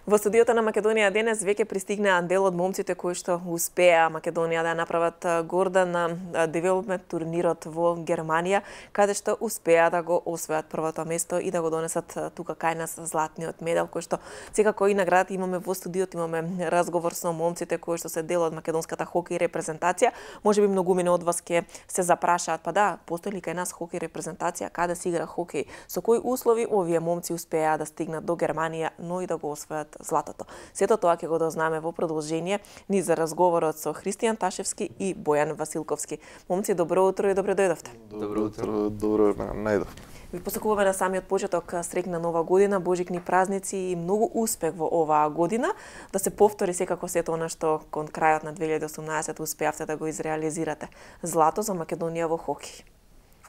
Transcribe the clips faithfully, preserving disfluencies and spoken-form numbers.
Во студиото на Македонија денес веќе пристигнаа дел од момците кои што успеа Македонија да направат горда на девелопмент турнирот во Германија, каде што успеа да го освојат првото место и да го донесат тука кај нас златниот медал, кој што секако и наградата имаме во студиото, имаме разговор со момците кои што се дел од македонската хокеј репрезентација. Можеби многумина од вас ќе се запрашаат, па да, постои ли кај нас хокеј репрезентација, каде се игра хокеј, со кои услови овие момци успеа да стигнат до Германија, но и да го освојат златото. Сето тоа ќе го дознаме во продолжение ни за разговорот со Христијан Ташевски и Бојан Василковски. Момци, добро утро и добро дојдовте. Добро утро, добро најдов. Ви посакуваме на самиот почеток среќна нова година, божикни празници и многу успех во оваа година, да се повтори секако сето она што кон крајот на две илјади и осумнаесета успеавте да го изреализирате. Злато за Македонија во хокеј.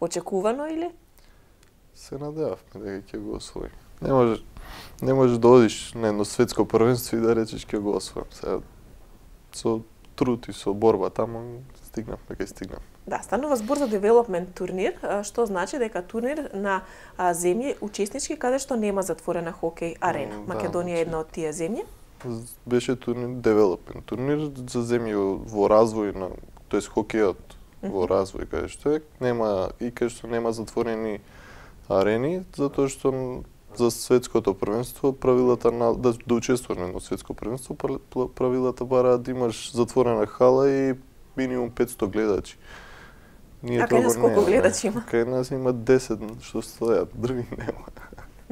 Очекувано или? Се надевавме дека ќе го освоиме. Не може Не можеш да одиш на едно светско првенство и да речеш ќе го освојам. Сега со труд и со борба таму стигнавме кај стигнав. Да, станува збор за девелопмент турнир, што значи дека турнир на земји учеснички каде што нема затворена хокеј арена. Да, Македонија е една од тие земји. Беше турнир девелопмент турнир за земји во развој на, тоест хокејот во развој каде што е, нема и каде што нема затворени арени, затоа што за светското првенство правилата на да, да учествуваш на светско првенство правилата бараат да имаш затворена хала и минимум петсто гледачи. Ние а кај нас колку гледачи има? Кај нас има десет што стојат, други нема.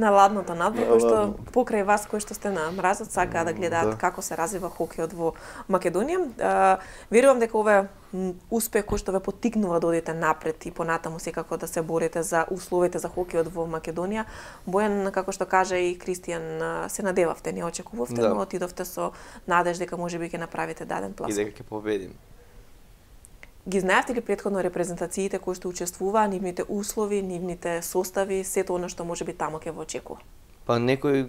На ладното надвор, кој што покрај вас кои што сте на мразот сакаа да гледаат да. Како се развива хокејот во Македонија. Верувам дека ова е успех кој што ве поттикнува да одите напред и понатаму секако да се борите за условите за хокејот во Македонија. Бојан, како што кажа и Кристијан, се надевавте, не очекувавте, да. Но отидовте со надеж дека можеби ќе направите даден плас. И дека ќе победим. Ги знаевте ли претходно репрезентациите кои што учествуваа, нивните услови, нивните состави, сето она што можеби таму ќе во очекува? Па некои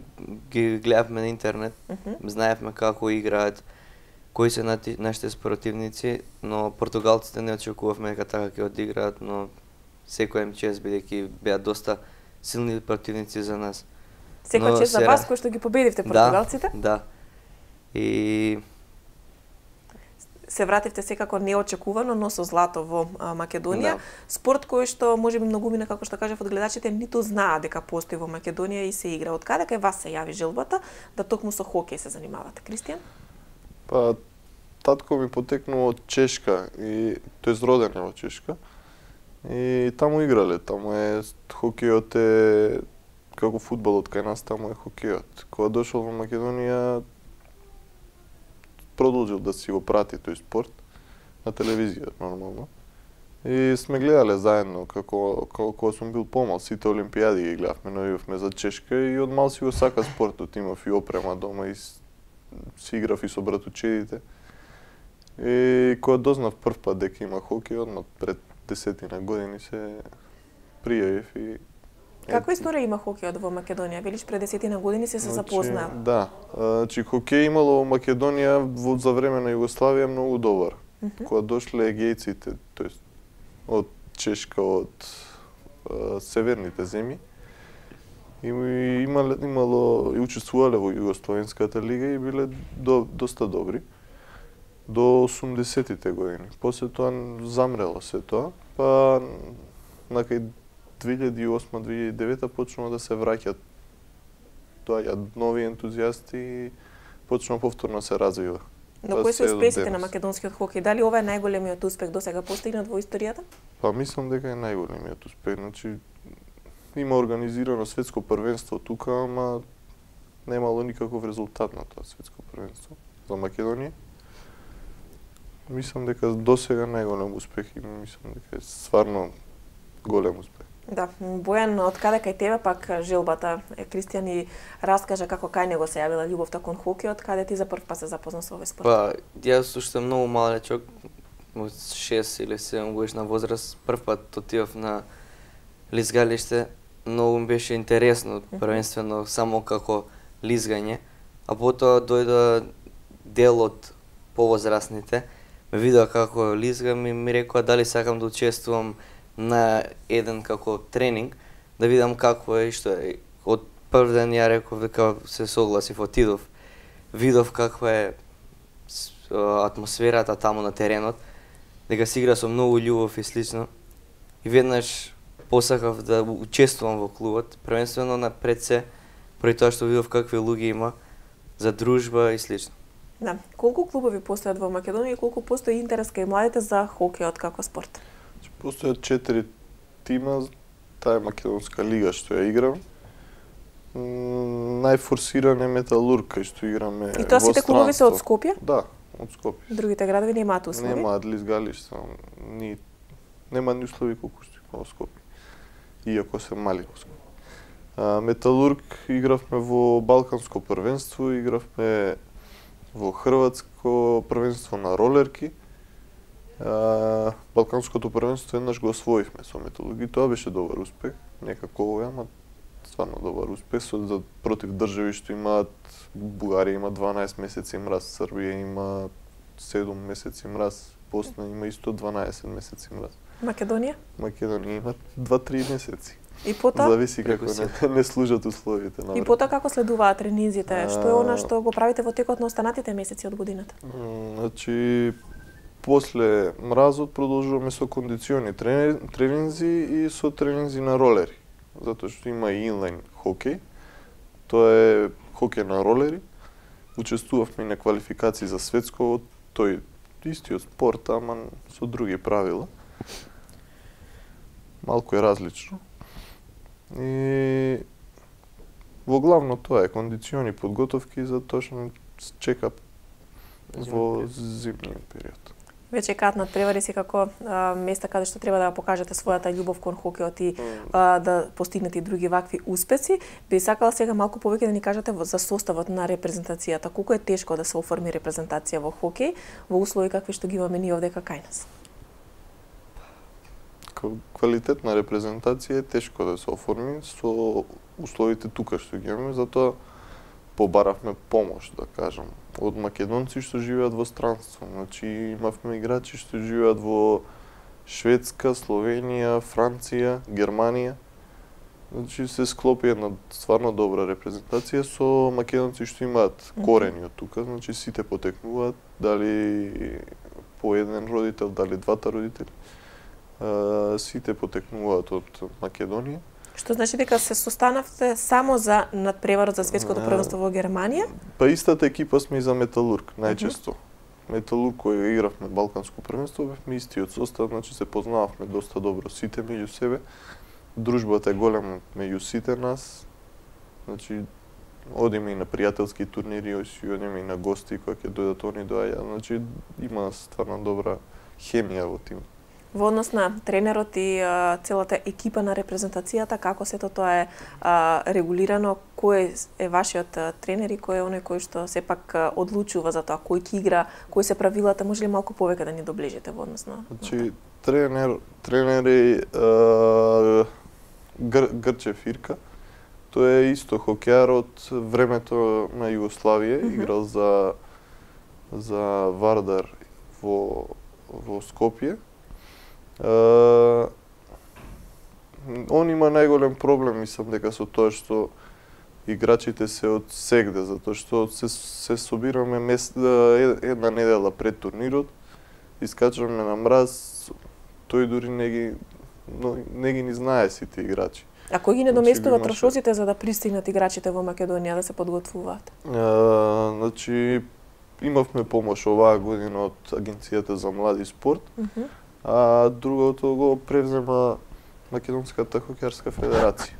ги гледавме на интернет, uh -huh. знаевме како играат, кои се нашите спротивници, но португалците не очекувавме дека така ќе одиграат, но секој им чест бидејќи беа доста силни противници за нас. Секој чест за вас кои што ги победивте португалците? Да, да. И се вративте секако неочекувано, но со злато во Македонија. Да. Спорт кој што можеби многумина, како што кажав, од гледачите ниту знаат дека постои во Македонија и се игра. Од каде кај вас се јави желбата да токму со хокеј се занимавате? Кристијан? Па, татко ми потекнува од Чешка, и тој роден е во Чешка. И таму играле, таму е хокејот е како фудбалот кај нас, таму е хокејот. Кога дошол во Македонија, продолжил да си го прати тој спорт на телевизија нормално. И сме гледале заедно како како кога сум бил помал, сите олимпијади ги гледавме, навивавме за Чешка и од мал си го сака спортот, имав и опрема дома и си играв и со братучедите. И кога дознав прв пат дека има хокеј, одма пред десетина години се пријавив и Каква историја има хокејот во Македонија? Велиш пред десетина години се се запознаа. Да, значи хокеј имало во Македонија во за време на Југославија многу добар. Uh -huh. Кога дошле егејците, тоест од Чешка, од а, северните земји, и имало, имало и учествувале во Југословенската лига и биле до, доста добри до осумдесетите години. После тоа замрело се тоа, па накај две илјади и осма - две илјади и девета почнува да се враќаат доаѓаат нови ентузијасти и почнува повторно се развива. Но кои се успесите на македонскиот хокеј? Дали ова е најголемиот успех досега постигнат во историјата? Па мислам дека е најголемиот успех. Значи има организирано светско првенство тука, ама немало никаков резултат на тоа светско првенство за Македонија. Мислам дека досега најголем успех и мислам дека е стварно голем успех. Да, Бојан, од каде кај тебе пак желбата? Кристијан ни раскажа како кај него се јавила љубовта кон хокејот, каде ти за прв пат се запозна со овој спорт? Па, јас уште сум многу малечок, од шест или седум годишна возраст, прв пат отидов на лизгалиште, многу ми беше интересно, првенствено само како лизгање, а потоа дојде дел од повозрастните, ме видеа како лизгам и ми рекоа дали сакам да учествувам на еден како тренинг, да видам какво е и што е. Од прв ден ја реков дека се согласив, отидов. видов каква е атмосферата таму на теренот, дека се игра со многу љубов и слично. И веднаш посакав да учествувам во клубот, првенствено на пред се, поради тоа што видов какви луѓе има за дружба и слично. Да. Колку клубови постојат во Македонија и колку постои интерес кај младите за хокејот како спорт? Постојат четири тима, таа е македонска лига што ја играм. Најфорсиран е Металург, кај што играме. И тоа сите клубови се од Скопје? Да, од Скопје. Другите градови немаат услови? Немаат лизгалишта, ни нема ни услови колку што има во Скопје. Иако се мали во Скопје. А, Металург игравме во Балканско првенство, игравме во Хрватско првенство на ролерки. А, Балканското првенство еднаш го освоивме со Металург и тоа беше добар успех. Некако ама стварно добар успех со за против држави што имаат Бугарија има дванаесет месеци мраз, Србија има седум месеци мраз, Босна има исто дванаесет месеци мраз. Македонија? Македонија има два-три месеци. И потоа? Зависи како не, не служат условите на И потоа како следуваат тренинзите? Што е она што го правите во текот на останатите месеци од годината? Значи, после мразот продолжуваме со кондициони тренинзи и со тренинзи на ролери. Затоа што има и инлайн хокеј. Тоа е хокеј на ролери. Учествувавме на квалификации за светско, тој истиот спорт, ама со други правила. Малку е различно. И во главно тоа е кондициони подготовки за тоа што чека во зимниот период. Веќе каат надпревари си како а, места каде што треба да покажете својата љубов кон хокеот и а, да постигнете и други вакви успеси. Би сакала сега малку повеќе да ни кажете за составот на репрезентацијата. Колку е тешко да се оформи репрезентација во хокеј во услови какви што ги имаме ние овде кај нас? Квалитетна репрезентација е тешко да се оформи со условите тука што ги имаме, затоа побаравме помош, да кажам, од македонци што живеат во странство. Значи имавме играчи што живеат во Шведска, Словенија, Франција, Германија. Значи се склопи една стварно добра репрезентација со македонци што имаат корени од тука, значи сите потекнуваат, дали по еден родител, дали двата родители. Uh, сите потекнуваат од Македонија. Што значи дека се состанавте само за надпреварот за светското првенство во Германија? Па истата екипа сме и за Металург, најчесто. Uh -huh. Металург кој игравме Балканско првенство, бевме истиот состав, значи се познававме доста добро сите меѓу себе. Дружбата е голема меѓу сите нас. Значи одиме и на пријателски турнири, одиме и на гости кои ќе дојдат они доаѓаат. Значи има стварно добра хемија во тимот. Во однос на тренерот и а, целата екипа на репрезентацијата, како сето тоа е а, регулирано, кој е вашиот а, тренер и кој е оној кој што сепак а, одлучува за тоа, кој ќе игра, кои се правилата, може ли малку повеќе да ни доближите во однос на? Значи тренер, тренер е а, Гр, Грчев Ирка. Тој е исто хокејар од времето на Југославија, mm -hmm. играл за за Вардар во во Скопје. Uh, он има најголем проблем, мислам дека со тоа што играчите се од сегде, затоа што се, се собираме мес, една недела пред турнирот, искачаме на мраз, тој дури не ги, но, не ги ни знае сите играчи. А кој ги недоместува значи, трошоците за да пристигнат играчите во Македонија да се подготвуваат? Uh, значи, имавме помош оваа година од Агенцијата за млади спорт, uh -huh. а другото го превзема Македонската хокејарска федерација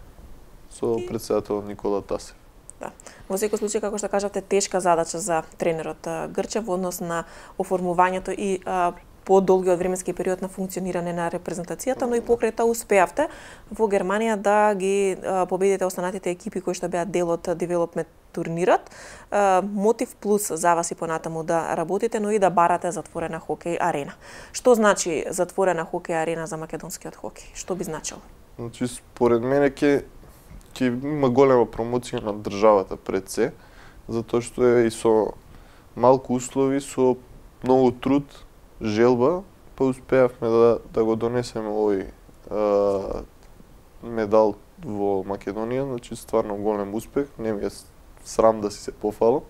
со претседател Никола Тасев. Да. Во секој случај, како што кажавте, тешка задача за тренерот Грчев во однос на оформувањето и а, подолгиот временски период на функционирање на репрезентацијата, но и покрај тоа успеавте во Германија да ги а, победите останатите екипи кои што беа дел од девелопмент турнирот. А, мотив плюс за вас и понатаму да работите, но и да барате затворена хокеј арена. Што значи затворена хокеј арена за македонскиот хокеј? Што би значило? Значи, според мене ќе ќе има голема промоција на државата пред се, затоа што е и со малку услови, со многу труд, желба, па успеавме да, да го донесеме овој а, медал во Македонија, значи стварно голем успех, не ми е срам да си се пофалам.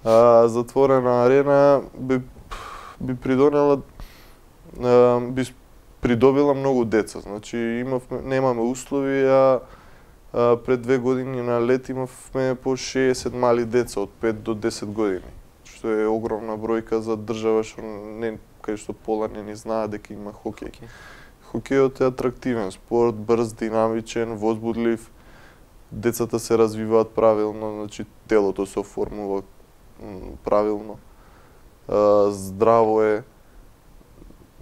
А, затворена арена би би придонела а, би придобила многу деца. Значи имавме немаме услови, а, а пред две години на лет имавме по шеесет мали деца од пет до десет години, што е огромна бројка за држава што не кај што пола не ни знаат дека има хокеј. Okay. Хокејот е атрактивен спорт, брз, динамичен, возбудлив. Децата се развиваат правилно, значи телото се оформува правилно. А, здраво е.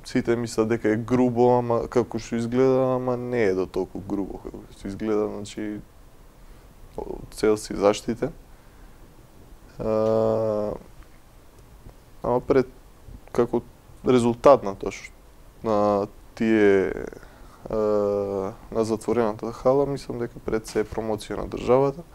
Сите мислат дека е грубо, ама како што изгледа, ама не е до толку грубо како што изгледа, значи цел си заштитен. А, ама пред како резултат на тоа што на тие а, на затворената хала, мислам дека пред се е промоција на државата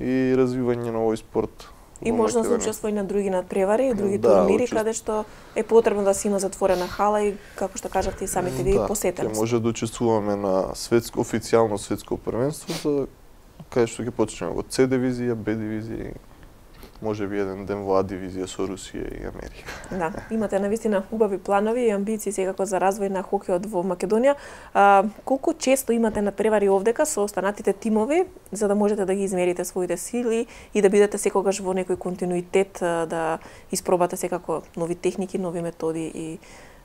и развивање на овој спорт. И можно да се учествува и на други надпревари и други да, турнири, учеств... каде што е потребно да се има затворена хала и, како што кажавте и самите ви, да, посетени. Да, може да учествуваме на светско, официјално светско првенство, за каде што ќе почнеме во С дивизија, Б дивизија, може би еден ден во А дивизија со Русија и Америка. Да, имате навистина убави планови и амбиции секако за развој на хокејот во Македонија. А, колку често имате надпревари овдека со останатите тимови, за да можете да ги измерите своите сили и да бидете секогаш во некој континуитет, да испробате секако нови техники, нови методи и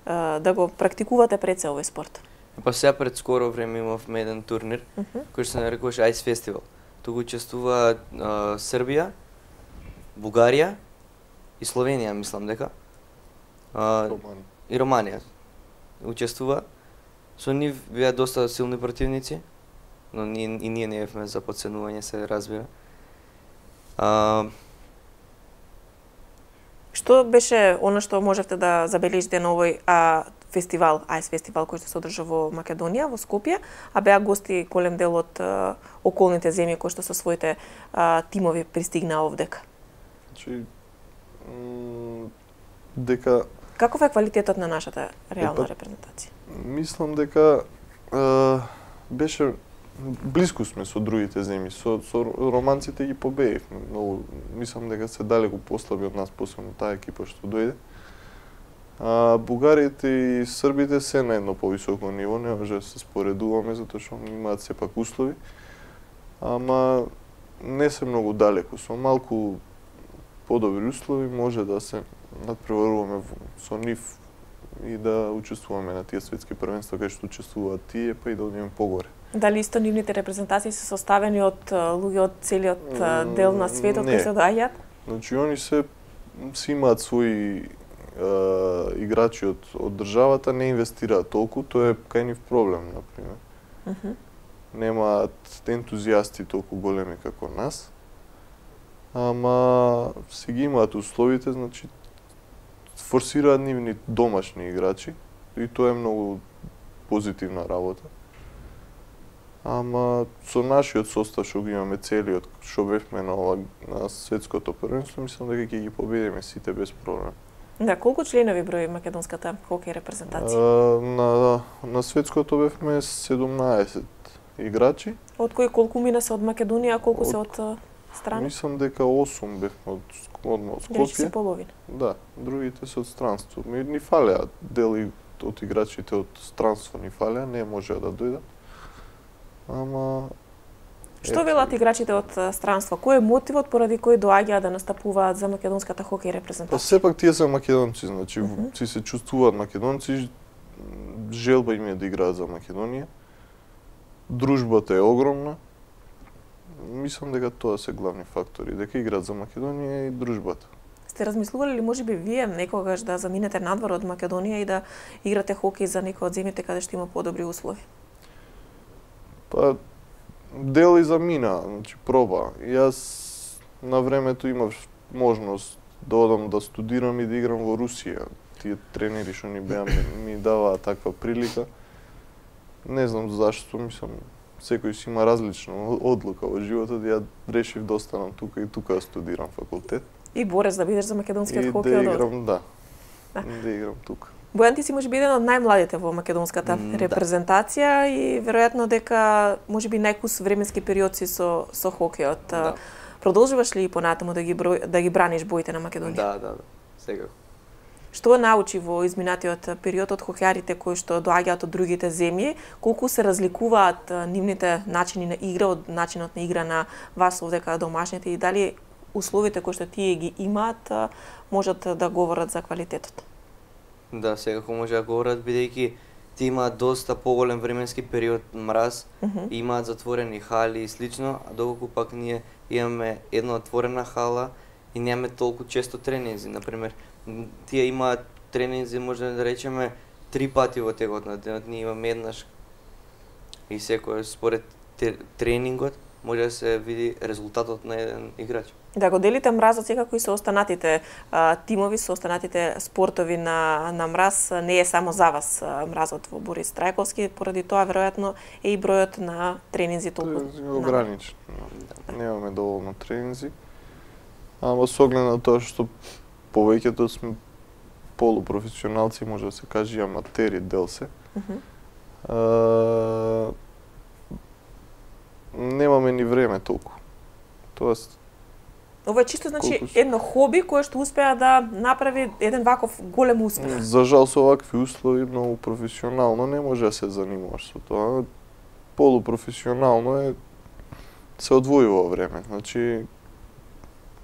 а, да го практикувате пред се овој спорт? Па сега пред скоро време имавме еден турнир, uh -huh. кој се нарекуваше Ice Festival. Туку учествува а, Србија, Бугарија и Словенија, мислам дека. А, Романија. И Романија учествува. Со нив беа доста силни противници, но ние, и ние не бевме за подценување, се разбира. А... Што беше она што можевте да забележите на овој а, фестивал, Ice фестивал кој што се одржа во Македонија, во Скопје, а беа гости голем дел од а, околните земји кои што со своите а, тимови пристигнаа овдека? Значи, дека... Каков е квалитетот на нашата реална Епа, репрезентација? Мислам дека е, беше блиску сме со другите земји, со, со романците ги победивме. Многу, мислам дека се далеку послаби од нас, посебно таа екипа што дојде. А бугарите и србите се на едно повисоко ниво, не може да се споредуваме затоа што имаат сепак услови. Ама не се многу далеку, со малку подобри услови може да се надпреваруваме со нив и да учествуваме на тие светски првенства кај што учествуваат тие, па и да одиме погоре. Дали исто нивните репрезентации се составени од луѓе од целиот дел на светот кои се доаѓаат? Значи они се си имаат своји е, играчи од од државата, не инвестираат толку, тоа е кај нив проблем, на пример. Uh -huh. Немаат ентузијасти толку големи како нас. Ама си ги имаат условите, значи форсираат нивни домашни играчи и тоа е многу позитивна работа. Ама со нашиот состав што го имаме целиот, што бевме на ова на светското првенство, мислам дека ќе ги победиме сите без проблем. Да, колку членови брои македонската хокеј репрезентација? А, на на светското бевме седумнаесет играчи. Од кои колку мина се од Македонија, а колку од... се од страна? Мислам дека осум бевме од од Скопје. Играчи си половина. Да, другите се од странство. Ми ни фалеа дели од играчите од странство ни фалеа, не можеа да дојдат. Ама што велат играчите од странство? Кој е мотивот поради кој доаѓаат да настапуваат за македонската хокеј репрезентација? Па сепак тие се македонци, значи uh -huh. си се чувствуваат македонци, желба им е да играат за Македонија. Дружбата е огромна. Мислам дека тоа се главни фактори, дека играат за Македонија и дружбата. Сте размислували ли можеби вие некогаш да заминете надвор од Македонија и да играте хокеј за некој од земјите каде што има подобри услови? Па дел и замина, значи проба. Јас на времето имав можност да одам да студирам и да играм во Русија. Тие тренери што ни беа ми даваа таква прилика. Не знам зашто, мислам, секој си има различна одлука во животот, ја решив да останам тука и тука да студирам факултет. И борец да бидеш за македонскиот хокеј од да играм, да. Да, да играм тука. Бојан, ти си можеби еден од најмладите во македонската Mm, репрезентација и веројатно дека можеби најкус временски период си со со хокејот. Да. Продолжуваш ли и понатаму да ги број, да ги браниш боите на Македонија? Да, да, да. Секако. Што научи во изминатиот период од хокејарите кои што доаѓаат од другите земји, колку се разликуваат нивните начини на игра од начинот на игра на вас овде каде домашните и дали условите кои што тие ги имаат можат да говорат за квалитетот? Да, секако може да говорат, бидејќи ти имаат доста поголем временски период мраз, Mm -hmm. имаат затворени хали и слично, а доколку пак ние имаме една отворена хала и немаме толку често тренинзи. Например, м, тие имаат тренинзи, може да речеме, три пати во текот на денот, ние имаме еднаш. И секој според те- тренингот може да се види резултатот на еден играч. Да го делите мразот секако и со останатите а, тимови, со останатите спортови на, на мраз, не е само за вас а, мразот во Борис Трајковски, поради тоа веројатно е и бројот на тренинзи толку Тоа е ограничен. Немаме доволно тренинзи. Ама со оглед на тоа што повеќето сме полупрофесионалци, може да се каже и аматери дел се. Мгм. А, немаме ни време толку. Тоест, Ова е чисто значи Колку се- едно хоби кое што успеа да направи еден ваков голем успех. за жал со вакви услови многу професионално не може да се занимаваш со тоа. Полупрофесионално е се одвојува време. Значи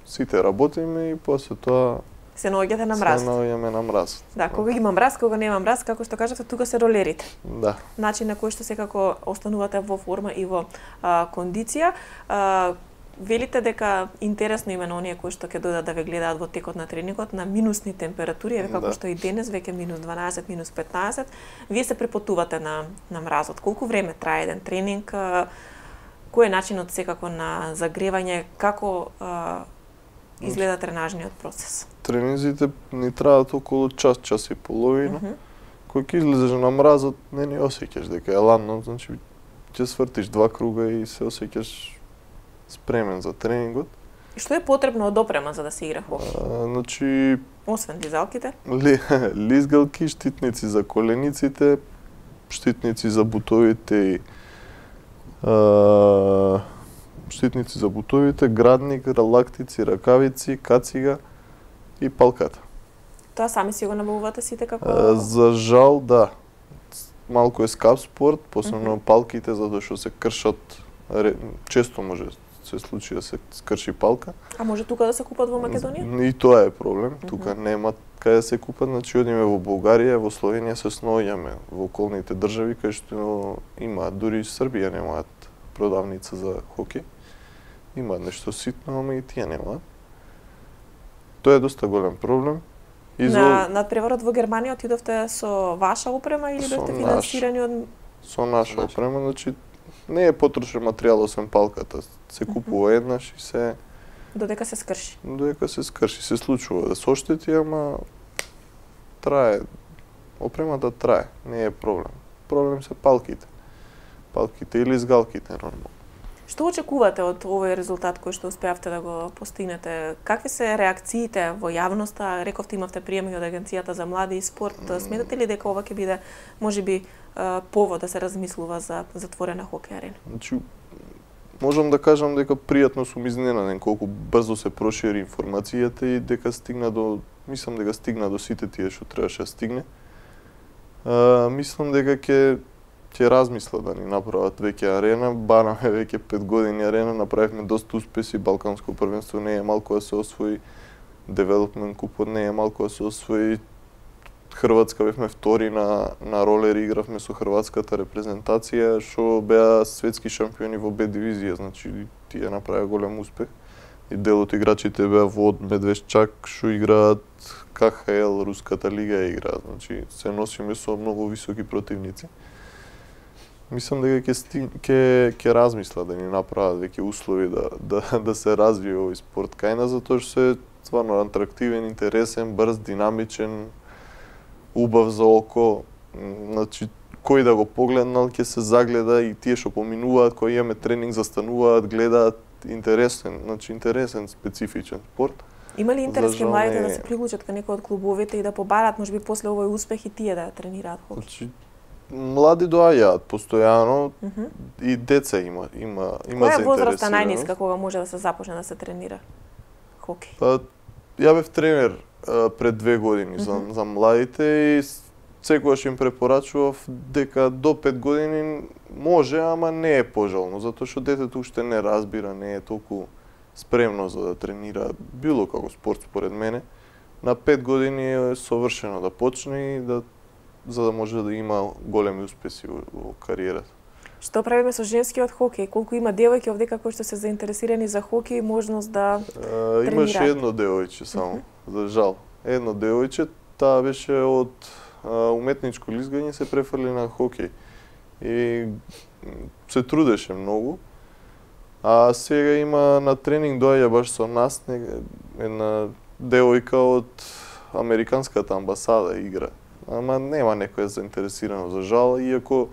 сите работиме и после тоа Се наоѓате на се мраз. наоѓаме на мраз. Да, кога има мраз, кога нема мраз, како што кажавте, тука се ролерите. Да. Начин на кој што секако останувате во форма и во а, кондиција. А, велите дека интересно има на оние кои што ќе дојдат да ве гледаат во текот на тренингот на минусни температури, еве како Да. што и денес веќе минус дванаесет, минус петнаесет, вие се препотувате на на мразот. Колку време трае еден тренинг? А, кој е начинот секако на загревање? Како а, изгледа тренажниот процес? Тренинзите ни траат околу час, час и половина. Мгм. Кој ќе излезеш на мразот, не ни осеќаш дека е ладно, значи ќе свртиш два круга и се осеќаш спремен за тренингот. И што е потребно од опрема за да се игра хокеј? А, значи Освен дизалките? ли, лизгалки, штитници за колениците, штитници за бутовите и а, штитници за бутовите, градник, лактици, ракавици, кацига и палката. Тоа сами си го набавувате сите како... А, за жал, да. Малку е скап спорт, посебно Мгм. палките, затоа што се кршат, ре- често може се случи да се скрши палка. А може тука да се купат во Македонија? И тоа е проблем. Мгм. Тука нема каде да се купат, значи одиме во Бугарија, во Словенија се сноѓаме во околните држави кај што имаат, дури и Србија немаат продавница за хокеј. Имаат нешто ситно, ама и тие немаат. Тоа е доста голем проблем. И за- На надпреварот во Германија отидовте со ваша опрема или Со бевте наш. финансирани од... со наша Наша. опрема, значи не е потрошен материјал освен палката. Се купува еднаш и се додека се скрши? додека се скрши, се случува да се оштети, ама трае. Опремата трае, не е проблем. Проблем се палките. Палките или изгалките нормално. Што очекувате од овој резултат кој што успеавте да го постигнете? Какви се реакциите во јавноста? Рековте имавте приеми од Агенцијата за млади и спорт. Сметате ли дека ова ќе биде можеби е, повод да се размислува за затворена хокеј арена? Значи, можам да кажам дека пријатно сум изненаден колку брзо се прошири информацијата и дека стигна до, мислам дека стигна до сите тие што требаше да стигне. А, мислам дека ќе ќе размислат да ни направат веќе арена. Бараме веќе пет години арена, направивме доста успеси, Балканско првенство не е малку да се освои, Девелопмент купот не е малку да се освои. Хрватска бевме втори на на ролери, игравме со хрватската репрезентација што беа светски шампиони во Б дивизија, значи тие направија голем успех. И дел од играчите беа Вод, Медвешчак што играат К Х Л, Руската лига играат, значи се носиме со многу високи противници. Мислам дека ќе стиг... ќе ќе размислат да ни направат веќе услови да да да се развие овој спорт кај нас, затоа што се стварно атрактивен, интересен, брз, динамичен, убав за око. Значи кој да го погледнал ќе се загледа и тие што поминуваат, кои имаме тренинг застануваат, гледаат, интересен, значи интересен специфичен спорт. Има ли интерес За кај жал младите не да е. се приклучат кај некој од клубовите и да побарат можеби после овој успех и тие да тренираат хоки? Значи, млади доаѓаат постојано и деца има, има, има Која е возраста заинтересираност. најниска кога може да се започне да се тренира хоки? Па, ја бев тренер а, пред две години за, за младите и с- секогаш им препорачував дека до пет години може, ама не е пожелно, затоа што детето уште не разбира, не е толку спремно за да тренира било како спорт според мене. На пет години е совршено да почне и да за да може да има големи успеси во, во кариерата. Што правиме со женскиот хокеј? Колку има девојки овдека кои што се заинтересирани за хокеј и можност да А, имаше тренираат? едно девојче само, за жал. Едно девојче, таа беше од а, уметничко лизгање се префрли на хокеј. И м, се трудеше многу. А сега има на тренинг доаѓа баш со нас не- една девојка од американската амбасада игра. Ама нема некоја заинтересирано за жал, иако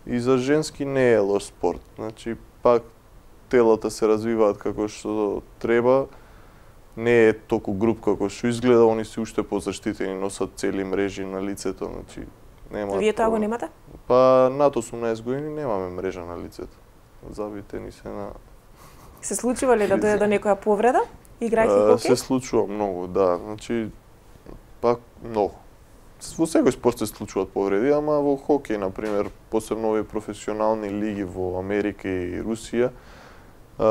и за женски не е лош спорт. Значи, пак телата се развиваат како што треба, не е толку груб како што изгледа, они се уште позаштитени, носат цели мрежи на лицето, значи нема. Вие тоа го немате? Па над осумнаесет години немаме мрежа на лицето. Забите ни се на Се случува ли да дојде до некоја повреда играјќи А, хокеј? се случува многу, да. Значи пак многу. Во секој спорт се случуваат повреди, ама во хокеј, на пример, посебно овие професионални лиги во Америка и Русија, а,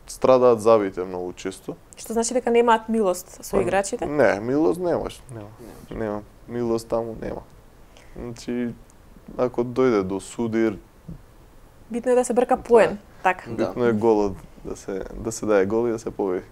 страдаат забите многу често. Што значи дека немаат милост со Па, играчите? Не, милост немаш, нема. Нема. Милост таму нема. Значи, ако дојде до судир, Битно е да се брка поен. Така. Да. битно е голот да се да се даде гол и да се победи.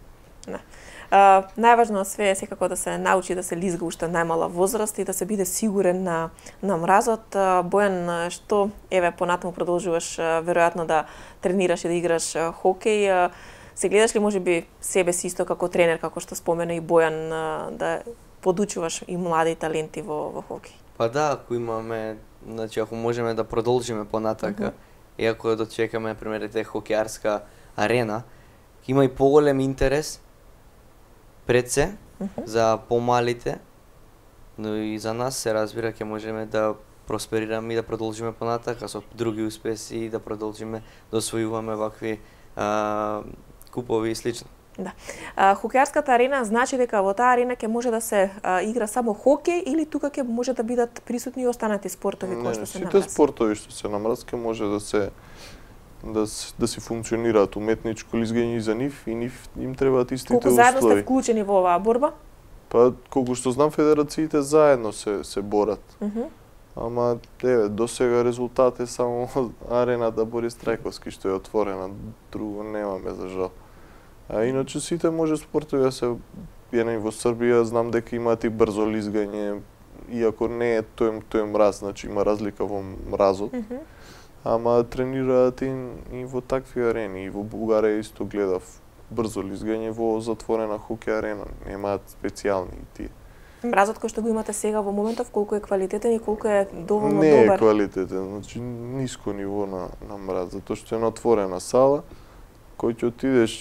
А, најважно од све е секако да се научи да се лизга уште најмала возраст и да се биде сигурен на, на мразот. А, Бојан, а, што еве понатаму продолжуваш а, веројатно да тренираш и да играш а, хокеј, а, се гледаш ли можеби себе си исто како тренер, како што спомена и Бојан, а, да подучуваш и млади таленти во, во хокеј? Па да, ако имаме, значи ако можеме да продолжиме понатака, и ако дочекаме на пример те хокеарска арена, има и поголем интерес пред се за помалите, но и за нас се разбира ќе можеме да просперираме и да продолжиме понатака со други успеси и да продолжиме да освојуваме вакви а, купови и слично. Да. А, хокеарската арена значи дека во таа арена ќе може да се а, игра само хокеј или тука ќе може да бидат присутни и останати спортови кои што се сите намраз? спортови што се на мраз ке може да се да, с- да си функционираат уметничко лизгање и за нив и нив им требаат истите Колку заедно сте услови. вклучени во оваа борба? Па колку што знам федерациите заедно се се борат. Мгм. Ама еве до сега резултат е само арената Борис Трајковски што е отворена, друго немаме за жал. А иначе сите може спортови да се еден во Србија, знам дека имаат и брзо лизгање, иако не е тој тој мраз, значи има разлика во мразот. Мгм. Ама тренираат и, и во такви арени. И во Бугарија исто гледав брзо лизгање во затворена хокеј арена. Немаат специјални и тие. Мразот кој што го имате сега во моментов, колку е квалитетен и колку е доволно Не е добар? квалитетен, значи ниско ниво на, на мраз, затоа што е на отворена сала, кој ќе отидеш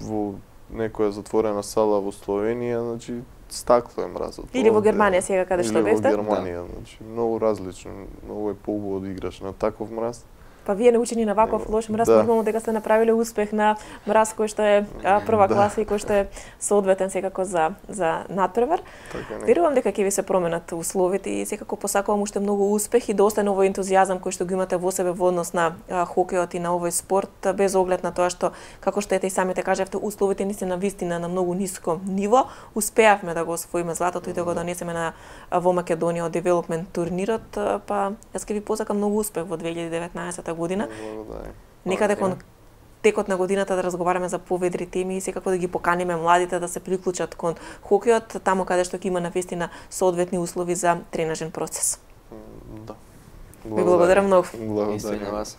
во некоја затворена сала во Словенија, значи стакло е мразот. Или во Овде- Германија сега каде што Или бевте? во Германија, значи многу различно, многу е поубаво да играш на таков мраз. Па вие научени на ваков Нема. лош мраз, Да. нормално дека сте направиле успех на мраз кој што е а, прва Да. класа и кој што е соодветен секако за за надпревар. Така не. Верувам дека ќе ви се променат условите и секако посакувам уште многу успех и да остане овој ентузијазам кој што го имате во себе во однос на а, хокејот и на овој спорт, а, без оглед на тоа што, како што ете и самите кажавте, условите ни се на вистина на многу ниско ниво. Успеавме да го освоиме златото и да го донесеме на а, во Македонија од девелопмент турнирот, а, па јас ќе ви посакам многу успех во две илјади и деветнаесета година. Благодарам. Некаде кон текот на годината да разговараме за поведри теми и секако да ги поканиме младите да се приклучат кон хокејот, таму каде што ќе има навистина соодветни услови за тренажен процес. М, Да. Ви благодарам многу. Исто и на Благодарам. вас.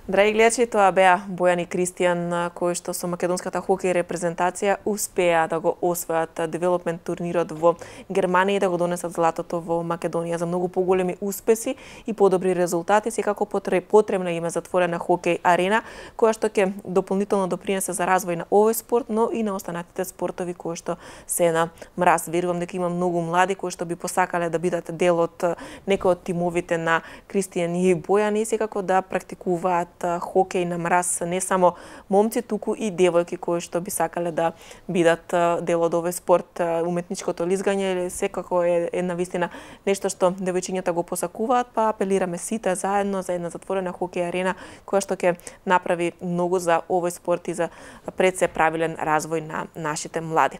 Драги гледачи, тоа беа Бојан и Кристијан, кои што со македонската хокеј репрезентација успеа да го освојат девелопмент турнирот во Германија и да го донесат златото во Македонија. За многу поголеми успеси и подобри резултати, секако потребна им е затворена хокеј арена, која што ќе дополнително допринесе за развој на овој спорт, но и на останатите спортови кои што се на мраз. Верувам дека има многу млади кои што би посакале да бидат дел од некој од тимовите на Кристијан и Бојан и секако да практикуваат хокеј на мраз, не само момци, туку и девојки кои што би сакале да бидат дел од овој спорт. Уметничкото лизгање секако е една вистина нешто што девојчињата го посакуваат, па апелираме сите заедно за една затворена хокеј арена која што ќе направи многу за овој спорт и за пред се правилен развој на нашите млади.